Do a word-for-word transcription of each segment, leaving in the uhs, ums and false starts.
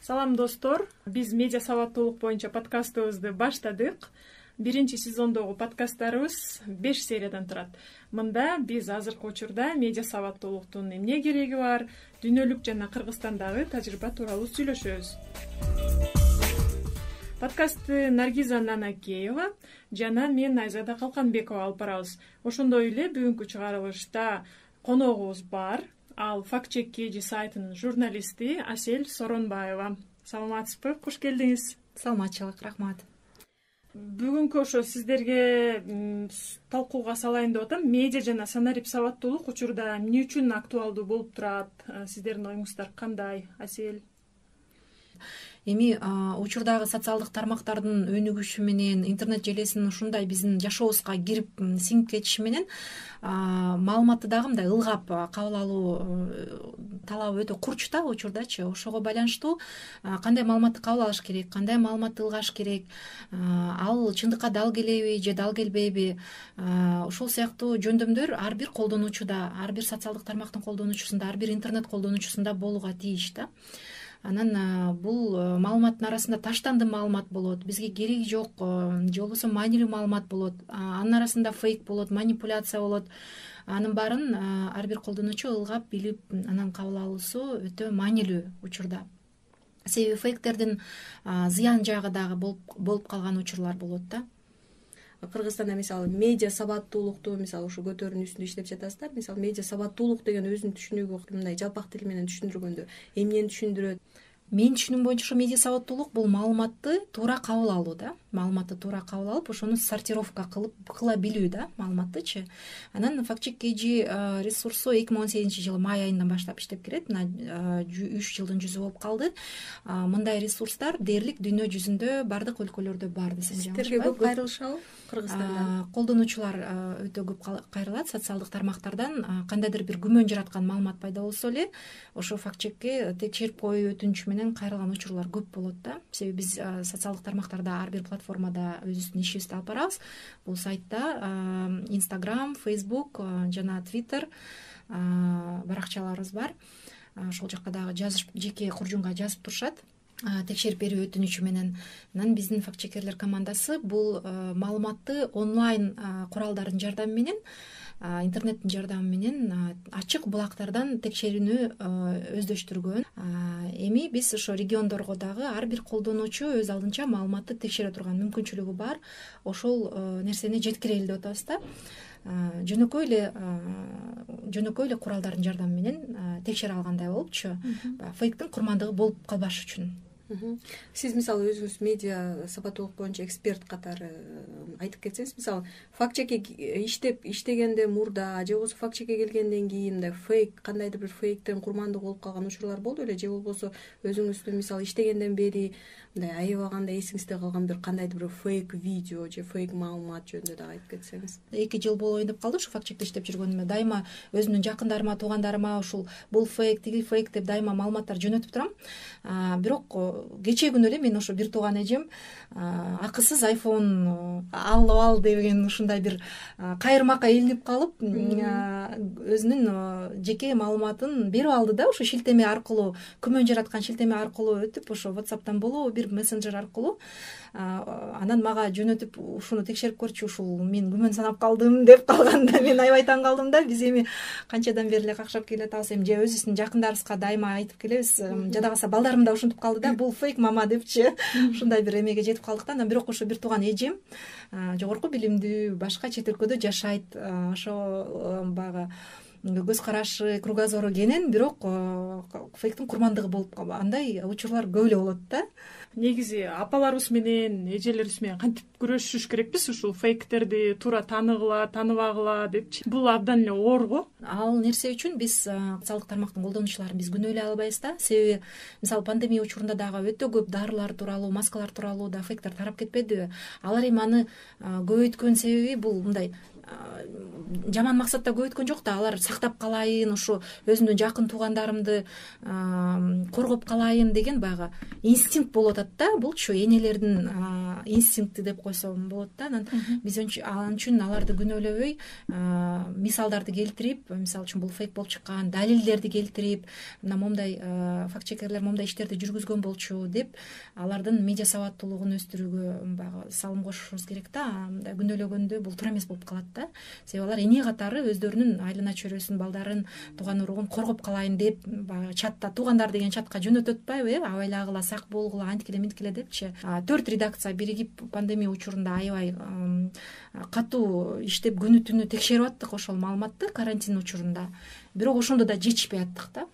Салам достор, биз медиа сабаттуулук боюнча подкастыбызды баштадык. Биринчи сезондогу подкасттарыбыз беш сериядан турат. Мында биз азыркы учурда медиа сабаттуулуктун эмне кереги бар, дүйнөлүк жана Кыргызстандагы тажрыйба тууралуу сүйлөшөбүз. Подкастты Наргиза Нанакеева жана мен Айзада Калканбекова алып барабыз. Ошондой эле бүгүнкү чыгарылышта коногубуз бар. Ал Факт чек кей джи сайтынын журналисти Асель Соронбаева. Саламатсызбы? Куш келдиңиз. Саламатчылык, рахмат. Бүгүнкү ошо сиздерге талкууга салайын деп атам. Медиа жана санарип сабаттуулук учурда эмне үчүн актуалдуу болуп турат? Сиздердин оюңуздар кандай, Асель? Эми учурдагы социалдык тармактардын өнүгүшү менен, интернет желесинин ушундай биздин жашообузга кирип сиңип кетиши менен маалыматты дагы мындай ылгап кабыл алуу талабы өтө курч да учурдачы. Ошого байланыштуу кандай маалыматты кабыл алыш керек, кандай маалыматты ылгаш керек, ал чындыкка дал келеби же дал келбейби, ошол сыяктуу жөндөмдөр ар бир колдонуучуда, ар бир социалдык тармактын колдонуучусунда, ар бир интернет колдонуучусунда болууга тийиш да. Анан бул маалыматтын арасында таштанды маалымат болот, бизге кереги жок, же болбосо маанилүү маалымат болот, анын арасында фейк болот, манипуляция болот. Анын баарын ар бир колдонуучу ылгап билип, анан кабыл алуусу өтө маанилүү учурда. Себеби фейктердин зыян жагы дагы болуп калган учурлар болот да. Кыргызстанда мисалы медиа сабаттуулукту мисалы ушу көтөрүүнүн үстүндө иштеп жатасыздар. Мисалы медиа сабаттуулук деген өзүнүн түшүнүгү мындай жалпак тил менен түшүндүргөндө эмнени түшүндүрөт? Мен түшүнүм боюнча ошо медиа сабаттуулук бул маалыматты туура кабыл алуу да. Маалыматты туура кабыл алып, ошону сортировка кылып кыла билүү да, маалыматтычы. Анан Факт чек кей джи ресурсу эки миң он сегизинчи жылы май айынан баштап иштеп келет. Мына үч жылдын жүзү болуп калды. Мындай ресурстар дээрлик дүйнө жүзүндө бардык өлкөлөрдө бар десем жакшы. Сиздерге көп кайрылышабы Кыргызстанда? Колдонуучулар өтө көп кайрылат социалдык тармактардан. Кандайдыр бир күмөн жараткан маалымат пайда болсо эле, ошо факт чекке текшерип коюу өтүнүчү менен кайрылган учурлар көп болот да. Себеби биз социалдык тармактарда ар бир платформада өзүбүздүн ишибизди алып барабыз. Бул сайтта Instagram, Facebook жана Twitter баракчаларыбыз бар. Ошол жакка дагы жазыш, жеке куржунга жазып турушат. Текшерип берүү өтүнүчү менен. Анан биздин факт чекерлер командасы бул маалыматты онлайн куралдардын жардамы менен, интернеттин жардамы менен ачык булактардан текшерүүнү өздөштүргөн. Эми биз ошо региондорго дагы ар бир колдонуучу өз алдынча маалыматты текшере турган мүмкүнчүлүгү бар. Ошол нерсени жеткирели деп атабыз да. Жөнөкөй эле жөнөкөй эле куралдардын жардамы менен текшере алгандай болупчу. Фейктин курмандыгы болуп калбаш үчүн. Сиз мисалы өзүңүз медиа сабаттуулук боюнча эксперт катары айтып кетсеңиз, мисалы факт чекке иштеп иштегенде мурда же болбосо факт чекке келгенден кийин мындай фейк, кандайдыр бир фейктен курмандык болуп калган учурлар болду беле, же болбосо өзүңүздүн мисалы иштегенден бери мындай аябаганда эсиңизде калган бир кандайдыр бир фейк видео же фейк маалымат жөнүндө дагы айтып кетсеңиз. Эки жыл болоюн деп калды ушу факт чекте иштеп жүргөнүмө. Дайыма өзүмдүн жакындарыма, туугандарыма ушул бул фейк, тиги фейк деп дайыма маалыматтар жөнөтүп турам. Бирок кечээ күнү эле мен ошо бир тууган эжем акысыз айфон алып ал деген ушундай бир кайырмакка илинип калып, өзүнүн жеке маалыматын берип алды да, ошо шилтеме аркылуу, күмөн жараткан шилтеме аркылуу өтүп, ошо WhatsApp'тан болобу, бир мессенджер аркылуу. Анан мага жөнөтүп, ушуну текшерип көрчү, ушул мен күмөн санап калдым деп калганда мен аябай таң калдым да. Биз эми канчадан бери эле какшап келатабыз, эми же өзүбүздүн жакындарыбызга дайыма айтып келебиз. Жада калса балдарым да ушинтип калды да, бул фейк мама депчи. Ушундай бир эмеге жетип калдык да. Анан бирок ошо бир тууган эжем жогорку билимдүү, башка чет өлкөдө жашайт. Ошо баягы көз карашы, кругозору кенен, бирок фейктин курмандыгы болуп калган. Андай учурлар көп эле болот да. Негизи апаларыбыз менен, эжелерибиз менен кантип күрөшүш керекпиз ушул фейктерди туура тааныгыла, тааныбагыла депчи. Бул абдан эле оор го. Ал нерсе үчүн биз социалдык тармактын колдонуучуларын биз күнөө эле албайбыз да. Себеби мисалы пандемия учурунда дагы өтө көп дарылар тууралуу, маскалар тууралуу да фейктер тарап кетпедиби? Алар эми аны көбөйткөн себеби бул мындай жаман максатта көбөйткөн жок да. Алар сактап калайын, ушу өзүмдүн жакын туугандарымды коргоп калайын деген баягы инстинкт болуп атат да, булчу энелердин инстинкти деп койсом болот да. Анан биз ал үчүн аларды күнөөлөбөй мисалдарды келтирип, мисалы үчүн бул фейк болуп чыккан, далилдерди келтирип, мына момундай факт чекерлер момундай иштерди жүргүзгөн болчу деп алардын медиа сабаттуулугун өстүрүүгө баягы салым кошушубуз керек да. Мындай күнөөлөгөндө бул туура эмес болуп калат да. Себеби алар эне катары өздөрүнүн айлана чөйрөсүн, балдарын, тууган уругун коргоп калайын деп баягы чатта туугандар деген чатка жөнөтүп атпайбы, э, абайлагыла, сак болгула, анткиле минткиле депчи. Төрт редакция биригип пандемия учурунда аябай катуу иштеп күнү түнү текшерип аттык ошол маалыматты карантин учурунда. Бирок ошондо да жетишпей аттык да.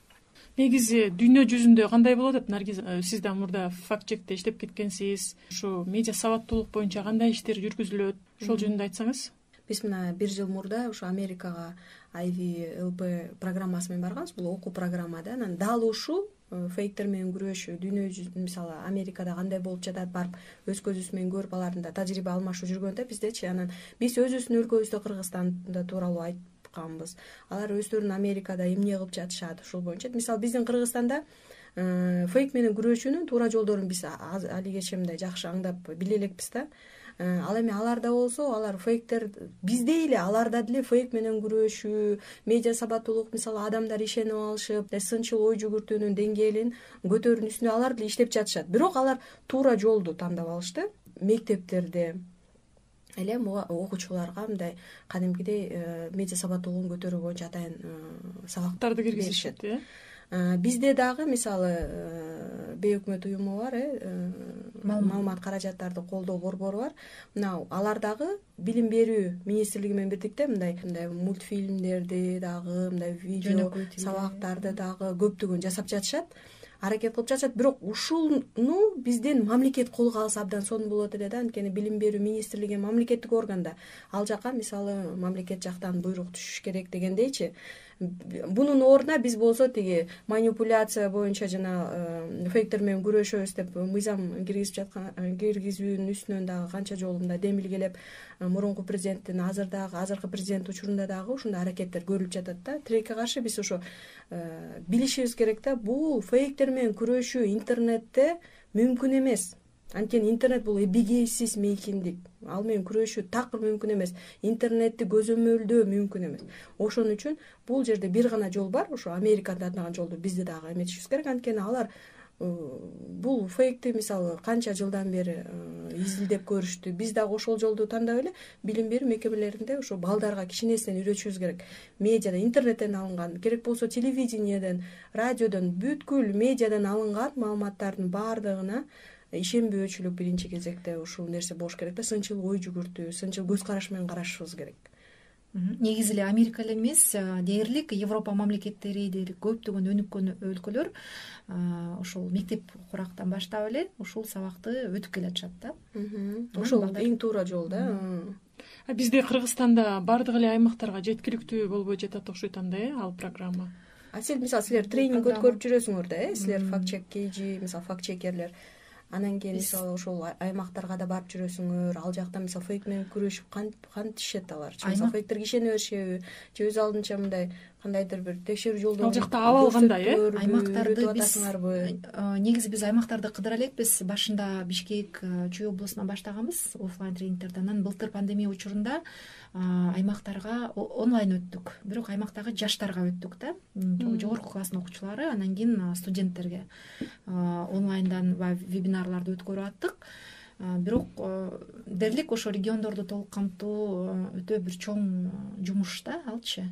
Негизи дүйнө жүзүндө кандай болуп атат, Наргиз? Сиз да мурда факт чекте иштеп кеткенсиз. Ушу медиа сабаттуулук боюнча кандай иштер жүргүзүлөт? Ошол жөнүндө айтсаңыз. Биз мына бир жыл мурда ушу Америкага ай ви эл пи программасы менен барганбыз. Бул окуу программа да. Анан дал ушу фейктер менен күрөшүү, дүйнө жүзүндө мисалы Америкада кандай болуп жатат, барып өз көзүбүз менен көрүп алардын да тажрыйба алмашуу жүргөндө биздечи. Анан биз өзүбүздүн өлкөбүздө Кыргызстанда тууралуу айтканбыз. Алар өздөрүн Америкада эмне кылып жатышат, ушул боюнча. Мисалы биздин Кыргызстанда фейк менен күрөшүүнүн туура жолдорун биз алигече мындай жакшы аңдап биле элекпиз да. Ал эми аларда болсо, алар фейктер биздей эле аларда деле фейк менен күрөшүү, медиа сабаттуулук, мисалы адамдар ишенип алышып, сынчыл ой жүгүртүүнүн деңгээлин көтөрүүнүн үстүнө алар деле иштеп жатышат. Бирок алар туура жолду тандап алышты. Мектептерде эле окуучуларга мындай кадимкидей медиа сабаттуулугун көтөрүү боюнча атайын сабактарды киргизишет, э? Бизде дагы мисалы бейөкмөт уюму бар, э, маалымат каражаттарды колдоо борбору бар. Мына алар дагы билим берүү министрлиги менен бирдикте мындай мындай мультфильмдерди дагы, мындай видео сабактарды дагы көптөгөн жасап жатышат. Аракет кылып жатышат. Бирок ушуну бизден мамлекет колго алса абдан сонун болот эле да. Анткени билим берүү министрлиги мамлекеттик орган да. Ал жака мисалы мамлекет жактан буйрук түшүш керек дегендейчи. Бунун ордуна биз болсо тиги манипуляция боюнча жана фейктер менен күрөшөбүз деп мыйзам киргизип жаткан киргизүүнүн үстүнөн дагы канча жолу мындай демилгелеп, мурунку президенттин азырдагы азыркы президент учурунда дагы ушундай аракеттер көрүлүп жатат да. Тилекке каршы биз ошо билишибиз керек да. Бул фейктер менен күрөшүү интернетте мүмкүн эмес. Анткени интернет бул эбегейсиз мейкиндик. Ал менен күрөшүү такыр мүмкүн эмес. Интернетти көзөмөлдөө мүмкүн эмес. Ошон үчүн бул жерде бир гана жол бар. Ошо Америкада тандаган жолду бизде дагы эметишибиз керек. Анткени алар бул фейкти мисалы канча жылдан бери изилдеп көрүштү. Биз дагы ошол жолду тандап эле билим берүү мекемелеринде ошо балдарга кичинесинен үйрөтүшүбүз керек. Медиада, интернеттен алынган, керек болсо телевидениеден, радиодон, бүткүл медиадан алынган маалыматтардын баардыгына ишенбөөчүлүк биринчи кезекте ушул нерсе болуш керек да. Сынчыл ой жүгүртүү, сынчыл көз караш менен карашыбыз керек. Негизи эле Америка эле эмес, дээрлик Европа мамлекеттери дээрлик көптөгөн өнүккөн өлкөлөр ошол мектеп курактан баштап эле ушул сабакты өтүп келатышат да. Ошол эң туура жол да. Бизде Кыргызстанда бардык эле аймактарга жеткиликтүү болбой жатат окшойт анда, э, ал программа. А сиз мисалы силер тренинг өткөрүп жүрөсүңөр да, э, силер факт чек кейжи, мисалы факт чекерлер. Анан кийин мисалы ошол аймактарга да барып жүрөсүңөр. Ал жакта мисалы фейк менен күрөшүп кантишет алар? Мисалы фейктерге ишене беришеби? Же өз алдынча мындай кандайдыр бир текшерүү жолдорун ал жакта аба алгандай, э? Аймактарды биз негизи биз аймактарды кыдыра элекпиз. Башында Бишкек, Чүй облусунан баштаганбыз офлайн тренингтерди. Анан былтыр пандемия учурунда аймактарга онлайн өттүк. Бирок аймактагы жаштарга өттүк да. Жогорку класстын окуучулары, анан кийин студенттерге онлайндан вебинарларды өткөрүп аттык. Бирок дээрлик ошо региондорду толук камтуу өтө бир чоң жумуш да, алчы.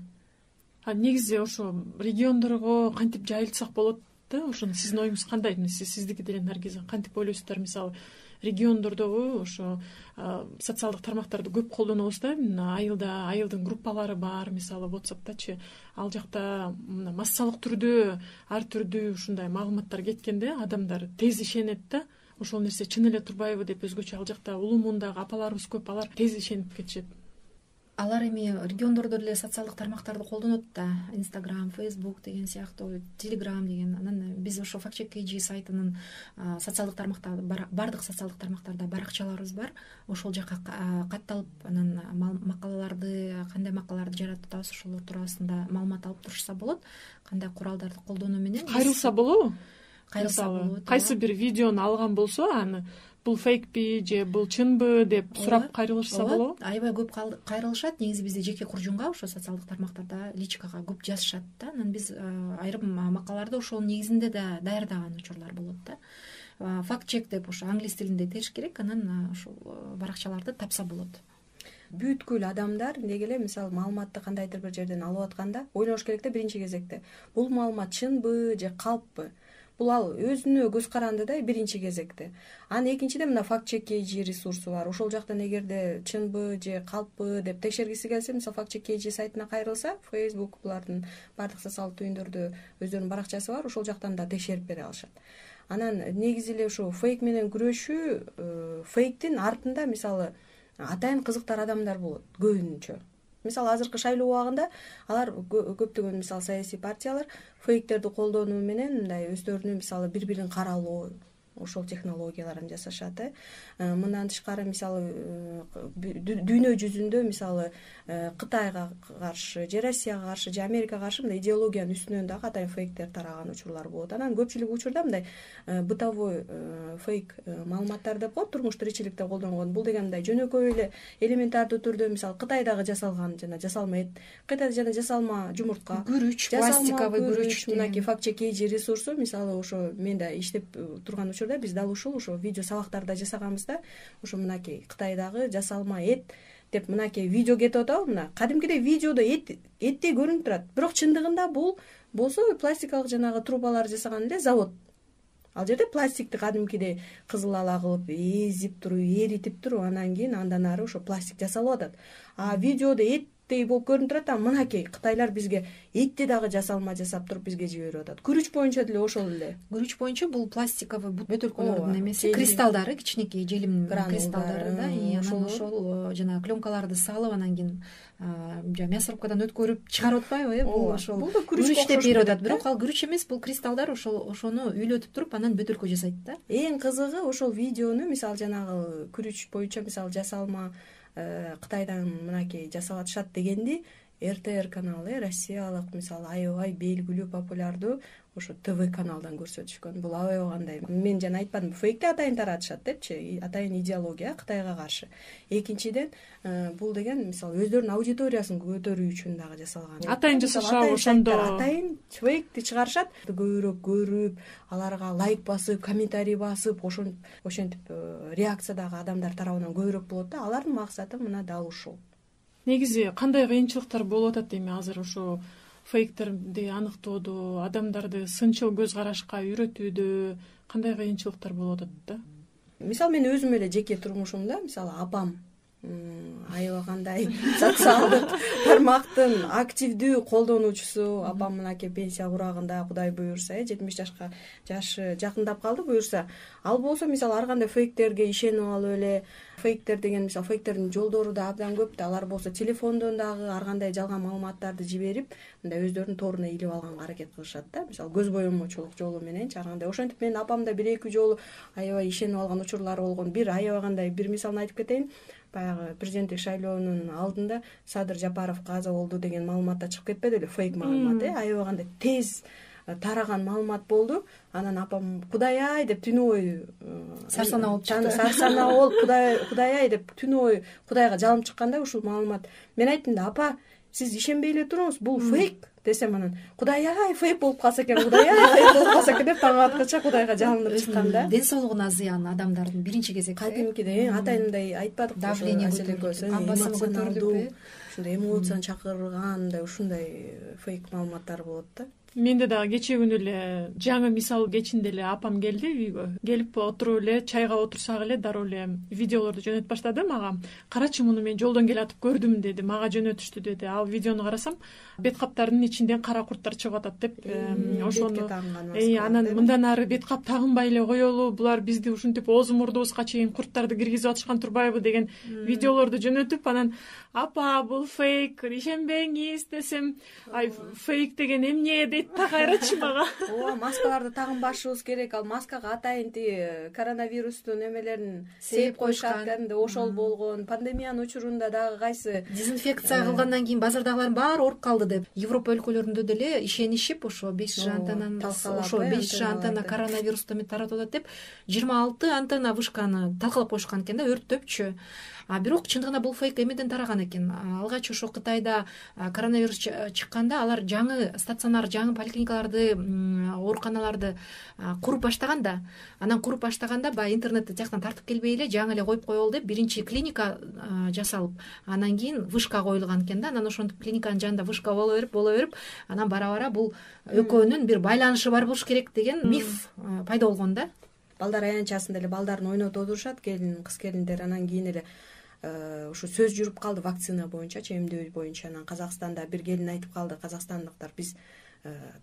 А негизи ошо региондорго кантип жайылтсак болот да? Ошону сиздин оюңуз кандай? Сиз сиздики деле Наргиза кантип ойлойсуздар? Мисалы региондордогу ошо социалдык тармактарды көп колдонобуз да. Айылда айылдын группалары бар, мисалы WhatsApp'тачы. Ал жакта массалык түрдө ар түрдүү ушундай маалыматтар кеткенде адамдар тез ишенет да. Ошол нерсе чын эле турбайбы деп өзгөчө ал жакта улуу мундагы апаларыбыз көп, алар тез ишенип кетишет. Алар эми региондордо деле социалдык тармактарды колдонот да. Instagram, Facebook деген сыяктуу, Telegram деген. Анан биз ошо факт чек кейжи сайтынын социалдык тармактарды бардык социалдык тармактарда баракчаларыбыз бар. Ошол жака катталып, анан макалаларды, кандай макалаларды жаратып атабыз, ошолор туурасында маалымат алып турушса болот. Кандай куралдарды колдонуу менен кайрылса болобу? кайрылса болот. кайсы бир видеону алган болсо аны бул фейкпи же бул чынбы деп сурап кайрылышса болобу? Аябай көп кайрылышат. Негизи бизде жеке куржунга ошо социалдык тармактарда личкага көп жазышат да. Анан биз айрым макалаларды ошонун негизинде да даярдаган учурлар болот да. Факт чек деп ошо англис тилинде териш керек, анан ошол баракчаларды тапса болот. Бүткүл адамдар деги эле мисалы маалыматты кандайдыр бир жерден алып атканда ойлош керек да биринчи кезекте. Бул маалымат чынбы же калппы? Бул ал өзүнө көз каранды да биринчи кезекте. Анан экинчиден мына факт чек кей джи ресурсу бар. Ошол жактан эгерде чынбы же калппы деп текшергиси келсе, мисалы факт чек кей джи сайтына кайрылса, Facebook булардын бардык социалдык түйүндөрдө өздөрүнүн баракчасы бар, ошол жактан да текшерип бере алышат. Анан негизи эле ушул фейк менен күрөшүү, фейктин артында мисалы атайын кызыктар адамдар болот көбүнчө. Мисалы азыркы шайлоо убагында алар көптөгөн мисалы саясий партиялар фейктерди колдонуу менен мындай өздөрүнүн мисалы бири-бирин каралоо ошол технологияларын жасашат. Мындан тышкары мисалы дүйнө жүзүндө мисалы Кытайга каршы, же Россияга каршы, же Америкага каршы мындай идеологиянын үстүнөн дагы атайын фейктер тараган учурлар болот. Анан көпчүлүк учурда мындай бытовой фейк маалыматтар деп коет, турмуш тиричиликте колдонгон. Бул деген мындай жөнөкөй эле элементардуу түрдө мисалы Кытайдагы жасалган жана жасалма эт, Кытайда жана жасалма жумуртка, күрүч, пластиковый күрүч, мынакей факт чек кей джи ресурсу мисалы ошо мен да иштеп турган учурда биз дал ушул ошо видео сабактарда жасаганбыз да. Ошо мынакей Кытайдагы жасалма эт деп мынакей видео кетип атабы, мына кадимкидей видеодо эт эттей көрүнүп турат. Бирок чындыгында бул болсо пластикалык жанагы трубалар жасаган эле завод. Ал жерде пластикти кадимкидей кызыл ала кылып эзип туруп, эритип туруп, анан кийин андан ары ошо пластик жасалып атат. А видеодо эттей болуп көрүнүп турат, а мынакей Кытайлар бизге этти дагы жасалма жасап туруп бизге жиберип атат. Күрүч боюнча деле ошол эле. Күрүч боюнча бул пластиковый бөтөлкөлөрдүн эмеси, кристалдары, кичинекей желим кристалдары да. Анан ошол жана пленкаларды салып, анан кийин мясорубкадан өткөрүп чыгарып атпайбы? Бул ошол күрүч деп берип атат. Бирок ал күрүч эмес, бул кристалдар ошол ошону үйлөтүп туруп, анан бөтөлкө жасайт да. Эң кызыгы ошол видеону мисалы жанагы күрүч боюнча мисалы жасалма Кытайдан мынакей жасап атышат дегенди эр тэ эр каналы, Россиялык мисалы аябай белгилүү популярдуу ошо ТВ каналдан көрсөтүшкөн. Бул аябай кандай. Мен жана айтпадым, фейкти атайын таратышат депчи, атайын идеология Кытайга каршы. Экинчиден, бул деген мисалы өздөрүнүн аудиториясын көтөрүү үчүн дагы жасалган. Атайын жасашабы ошондо. Атайын фейкти чыгарышат, көбүрөөк көрүп, аларга лайк басып, комментарий басып, ошентип реакция дагы адамдар тарабынан көбүрөөк болот да. Алардын максаты мына дал ушул. Негизи кандай кыйынчылыктар болуп атат эми азыр ошо фейктерди аныктоодо, адамдарды сынчыл көз карашка үйрөтүүдө кандай кыйынчылыктар болуп атат да? Мисалы мен өзүм эле жеке турмушумда, мисалы апам аябай кандай социалдык тармактын активдүү колдонуучусу, апам мынакей пенсия курагында, Кудай буйрса, жетимиш жашка жашы жакындап калды буйрса, ал болсо мисалы ар кандай фейктерге ишенип алып эле, фейктер деген мисалы фейктердин жолдору да абдан көп да, алар болсо телефондон дагы ар кандай жалган маалыматтарды жиберип, мындай өздөрүнүн торуна илип алганга аракет кылышат да. Мисалы көз боемочулук жолу мененчи ар кандай. Ошентип менин апам да бир эки жолу аябай ишенип алган учурлары болгон. Бир аябай кандай бир мисалын айтып кетейин. Баягы президенттик шайлоонун алдында Садыр Жапаров каза болду деген маалыматта чыгып кетпеди беле, фейк маалымат, э, аябай кандай тез тараган маалымат болду. Анан апам Кудай ай деп түнү бою сарсанаа болуп чыкты. Сарсанаа болуп Кудай Кудай ай деп түнү бою Кудайга жалынып чыкканда ушул маалымат. Мен айттым да, апа, сиз ишенбей эле туруңуз, бул фейк десем, анан Кудай ай фейк болуп калса экен, Кудай ай фейк болуп калса экен деп таң аткыча Кудайга жалынып чыккан да. Ден соолугуна зыян адамдардын биринчи кезекте. Кадимкидей атайындай айтпадык, давление көтөрүлүп, эмоционалдуу, ушундай эмоцияны чакыргандай ушундай фейк маалыматтар болот да. Менде дагы кечээ күнү эле жаңы мисал кечинде эле апам келди үйгө. Келип отуруп эле чайга отурсак эле дароо эле видеолорду жөнөтүп баштады мага. Карачы, муну мен жолдон келатып көрдүм деди, мага жөнөтүштү деди. Ал видеону карасам, бет каптардын ичинден кара курттар чыгып атат деп, ошону анан мындан ары бет кап тагынбай эле коелу, булар бизди ушинтип оозу мурдубузга чейин курттарды киргизип атышкан турбайбы деген видеолорду жөнөтүп, анан апа бул фейк, ишенбеңиз десем, ай фейк деген эмне дейт айт да кайрачы мага. ооба, маскаларды тагынбашыбыз керек. Ал маскага атайын тиги коронавирустун эмелерин сээп коюшат, кәдимги ошол болгон. Пандемиянын учурунда дагы кайсы дезинфекция кылгандан кийин базардагылардын баары ооруп калды деп Европа өлкөлөрүндө деле ишенишип ошо беш жи антеннан ошо беш жи антенна коронавирусту эме таратып атат деп жыйырма алты антенна вышканы талкалап коюшкан экен да, өрттөпчү. А бирок чындыгында бул фейк эмеден тараган экен. Алгач ошо Кытайда коронавирус чыкканда алар жаңы стационар, жаңы поликлиникаларды, ооруканаларды куруп баштаган да. Анан куруп баштаганда баягы интернетти тияктан тартып келбей эле жаңы эле коюп коелу деп биринчи клиника жасалып, анан кийин вышка коюлган экен да. Анан ошентип клиниканын жанында вышка боло берип, боло берип, анан бара-бара бул экөөнүн бир байланышы бар болуш керек деген миф пайда болгон да. Балдар аянтчасында эле балдарын ойнотуп отурушат, келин, кыз келиндер. Анан кийин эле ушу сөз жүрүп калды вакцина боюнчачы, эмдөө боюнча. Анан Казакстанда бир келин айтып калды, казакстандыктар биз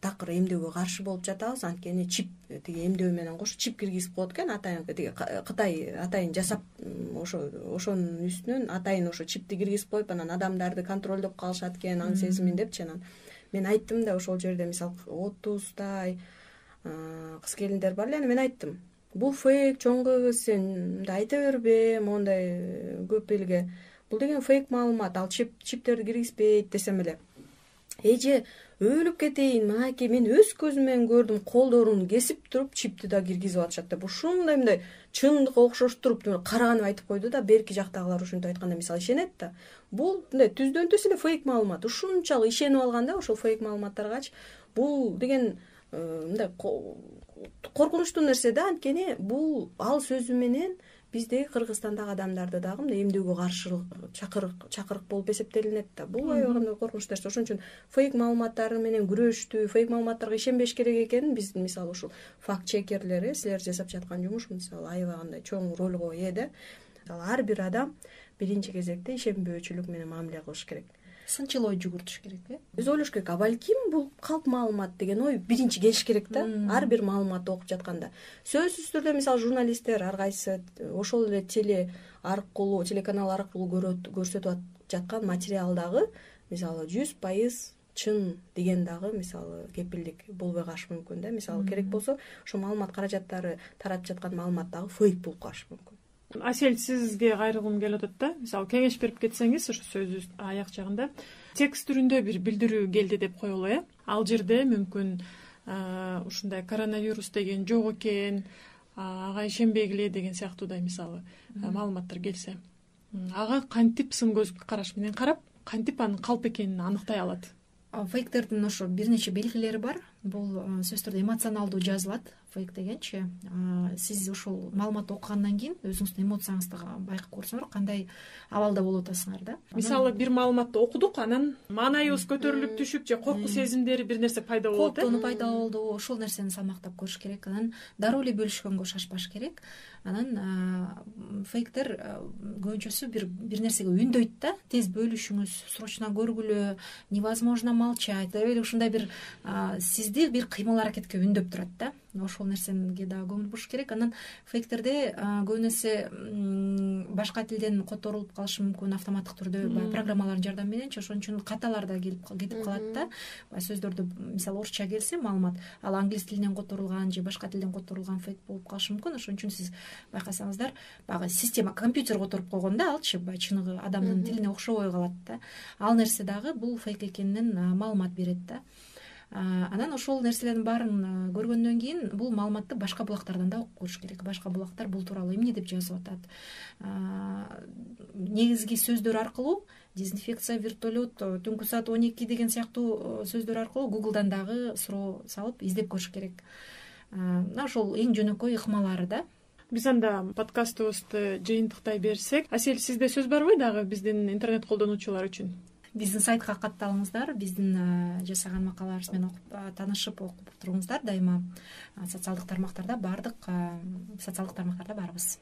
такыр эмдөөгө каршы болуп жатабыз, анткени чип тиги эмдөө менен кошо чип киргизип коет экен. Атайын тиги Кытай атайын жасап ошо ошонун үстүнөн атайын ошо чипти киргизип коюп, анан адамдарды контролдоп калышат экен, аң сезимин депчи. Анан мен айттым да ошол жерде, мисалы отуздай кыз келиндер бар эле, мен айттым, бул фейк, чоң кыз, сен мындай айта бербе, мондай көп элге. Бул деген фейк маалымат, ал чип чиптерди киргизбейт десем эле. Эже өлүп кетейин, мынакей мен өз көзүм менен көрдүм, колдорун кесип туруп чипти да киргизип атышат деп. Ушундай мындай чындыкка окшоштуруп караганып айтып койду да. Берки жактагылар ушинтип айтканда мисалы ишенет да. Бул мындай түздөн түз эле фейк маалымат. Ушунчалык ишенип алган да ошол фейк маалыматтаргачы. Бул деген мындай коркунучтуу нерсе да, анткени бул ал сөзү менен биздеги Кыргызстандагы адамдарды дагы мындай эмдөөгө каршы чакырык чакырык болуп эсептелинет да. Бул аябай коркунучтуу нерсе. Ошон үчүн фейк маалыматтар менен күрөштүү, фейк маалыматтарга ишенбеш керек экенин биз мисалы ушул факт чекерлер, силер жасап жаткан жумуш мисалы аябай кандай чоң ролго ээ да. Мисалы ар бир адам биринчи кезекте ишенбөөчүлүк менен мамиле кылыш керек. Сынчыл ой жүгүртүш керек э. Биз ойлош керек, а балким бул калп маалымат деген ой биринчи келиш керек да. Ар бир маалыматты окуп жатканда. Сөзсүз түрдө мисалы журналисттер ар кайсы ошол эле теле аркылуу, телеканал аркылуу көрсөтүп жаткан материалдагы мисалы жүз пайыз чын деген дагы мисалы кепилдик болбой калышы мүмкүн да. Мисалы керек болсо ошо маалымат каражаттары таратып жаткан маалымат дагы фейк болуп калышы мүмкүн. Асель, сизге кайрылгым келип атат да. Мисалы кеңеш берип кетсеңиз ошо сөзү аяк жагында текст түрүндө бир билдирүү келди деп коелу э. Ал жерде мүмкүн ушундай коронавирус деген жок экен, ага ишенбегиле деген сыяктуудай мисалы маалыматтар келсе, ага кантип сын көз караш менен карап, кантип анын калп экенин аныктай алат? Фейктердин ошо бир нече белгилери бар. Бул сөзсүз түрдө эмоционалдуу жазылат. Фейк дегенчи сиз ушул маалыматты окугандан кийин өзүңүздүн эмоцияңызды байкап көрсөңөр кандай абалда болуп атасыңар да. Мисалы бир маалыматты окудук, анан маанайыбыз көтөрүлүп түшүп же корку сезимдери бир нерсе пайда болот э. Коркуу пайда болду, ошол нерсени салмактап көрүш керек. Анан дароо эле бөлүшкөнгө шашпаш керек. Анан фейктер көбүнчөсү бир бир нерсеге үндөйт да. Тез бөлүшүңүз, срочно көргүлө, невозможно молчать деп эле ушундай бир сизди бир кыймыл аракетке үндөп турат да. Ошол нерсеге дагы көңүл буруш керек. Анан фейктерде көбүнесе башка тилден которулуп калышы мүмкүн автоматтык түрдө, баягы программалардын жардамы мененчи. Ошон үчүн каталар да келип кетип калат да. Сөздөрдү мисалы орусча келсе маалымат, ал англис тилинен которулган же башка тилден которулган фейк болуп калышы мүмкүн. Ошон үчүн сиз байкасаңыздар, баягы система компьютер которуп койгон да, алчы баягы чыныгы адамдын тилине окшобой калат да. Ал нерсе дагы бул фейк экенинен маалымат берет да. Анан ошол нерселердин баарын көргөндөн кийин бул маалыматты башка булактардан да окуп көрүш керек. Башка булактар бул тууралуу эмне деп жазып атат. Негизги сөздөр аркылуу дезинфекция, вертолет, түнкү саат он эки деген сыяктуу сөздөр аркылуу Google'дан дагы суроо салып издеп көрүш керек. Ошол эң жөнөкөй ыкмалары да. Биз анда подкастыбызды жыйынтыктай берсек, Асель, сизде сөз барбы дагы биздин интернет колдонуучулар үчүн? Биздин сайтка катталыңыздар, биздин жасаган макалаларыбыз менен окуп таанышып окуп туруңуздар. Дайыма социалдык тармактарда бардык социалдык тармактарда барбыз.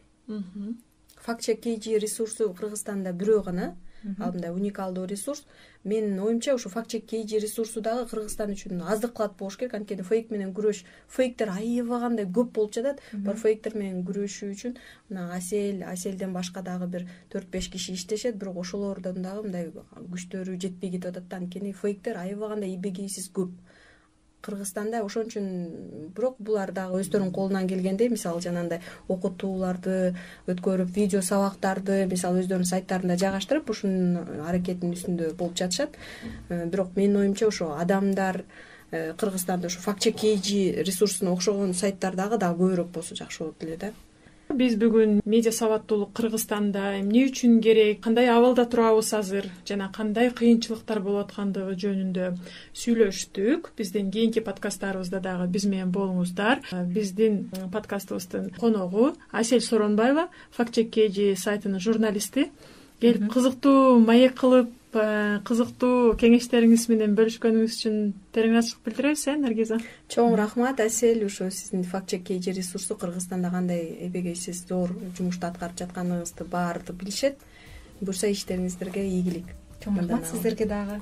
Факт чек кей жи ресурсу Кыргызстанда бирөө гана, ал мындай уникалдуу ресурс. Менин оюмча ушу факт чек кей жи ресурсу дагы Кыргызстан үчүн аздык кылат болуш керек, анткени фейк менен күрөш, фейктер аябагандай көп болуп жатат. Бар фейктер менен күрөшүү үчүн мына Асель, Аселден башка дагы бир төрт беш киши иштешет, бирок ошолордон дагы мындай күчтөрү жетпей кетип атат да, анткени фейктер аябагандай ийбегейсиз көп. Кыргызстанда. Ошон үчүн бирок булар дагы өздөрүнүн колунан келгендей, мисалы жанагындай окутууларды өткөрүп, видео сабактарды мисалы өздөрүнүн сайттарында жайгаштырып, ушунун аракетинин үстүндө болуп жатышат. Бирок менин оюмча ошо адамдар Кыргызстанда ушу факт чек кей джи ресурсуна окшогон сайттар дагы дагы көбүрөөк болсо жакшы болот эле да. Биз бүгүн медиа сабаттуулук Кыргызстанда эмне үчүн керек, кандай абалда турабыз азыр жана кандай кыйынчылыктар болуп аткандыгы жөнүндө сүйлөштүк. Биздин кийинки подкасттарыбызда дагы биз менен болуңуздар. Биздин подкастыбыздын коногу Асель Соронбаева, факт чек кей джи сайтынын журналисти. Келип кызыктуу маек кылып, кызыктуу кеңештериңиз менен бөлүшкөнүңүз үчүн тереңачылык билдиребиз, э Наргиза? Чоң рахмат, Асель. Ошо сиздин факт чек кей джи ресурсу Кыргызстанда кандай эбегейсиз зор жумушту аткарып жатканыңызды баары билишет. Буюрса иштериңиздерге ийгилик. Чоң рахмат сиздерге дагы.